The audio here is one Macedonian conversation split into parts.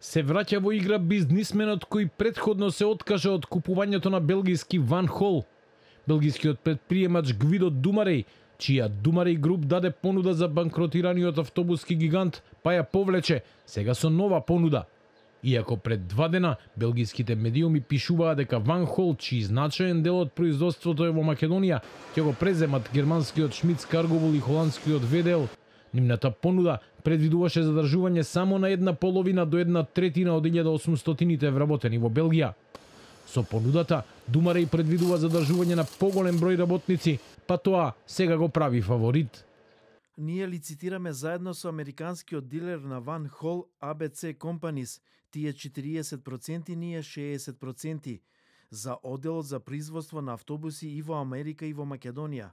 Се враќа во игра бизнисменот кој претходно се откажа од купувањето на белгиски Ван Хол. Белгискиот предприемач Гвидо Думареј, чија Думареј Груп даде понуда за банкротираниот автобуски гигант, па ја повлече, сега со нова понуда. Иако пред 2 дена белгиските медиуми пишуваа дека Ван Хол, чиј значаен дел од производството е во Македонија, ќе го преземат германскиот Шмидс Карговул и холандскиот ВДЛ, нивната понуда предвидуваше задржување само на 1/2 до 1/3 од 1800-тите вработени во Белгија. Со понудата, Думареј предвидува задржување на поголем број работници, па тоа сега го прави фаворит. Ние лицитираме заедно со американскиот дилер на Ван Хол ABC Companies, тие 40%, ние 60%, за одделот за производство на автобуси и во Америка и во Македонија.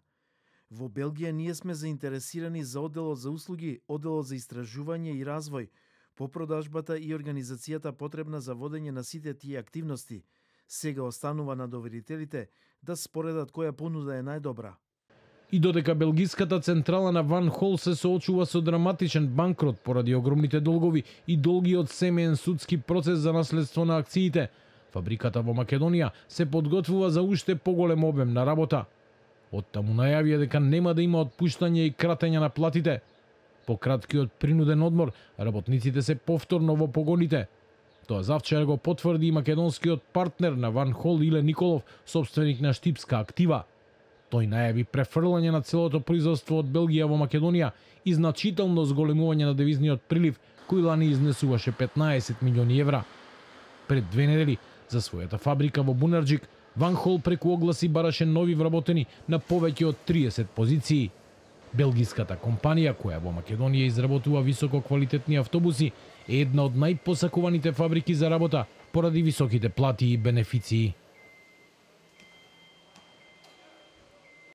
Во Белгија ние сме заинтересирани за одделот за услуги, одделот за истражување и развој, по продажбата и организацијата потребна за водење на сите тие активности. Сега останува на доверителите да споредат која понуда е најдобра. И додека белгиската централа на Ван Хол се соочува со драматичен банкрот поради огромните долгови и долгиот семеен судски процес за наследство на акциите, фабриката во Македонија се подготвува за уште поголем обем на работа. Оттаму најавија дека нема да има отпуштање и кратење на платите. По краткиот принуден одмор, работниците се повторно во погоните. Тоа завчера го потврди и македонскиот партнер на Ван Хол Иле Николов, собственик на Штипска актива. Тој најави префрлање на целото производство од Белгија во Македонија и значително зголемување на девизниот прилив, кој лани изнесуваше 15 милиони евра. Пред 2 недели, за својата фабрика во Бунарџик, Ван Хол преку огласи бараше нови вработени на повеќе од 30 позиции. Белгиската компанија, која во Македонија изработува високо квалитетни автобуси, е една од најпосакуваните фабрики за работа поради високите плати и бенефиции.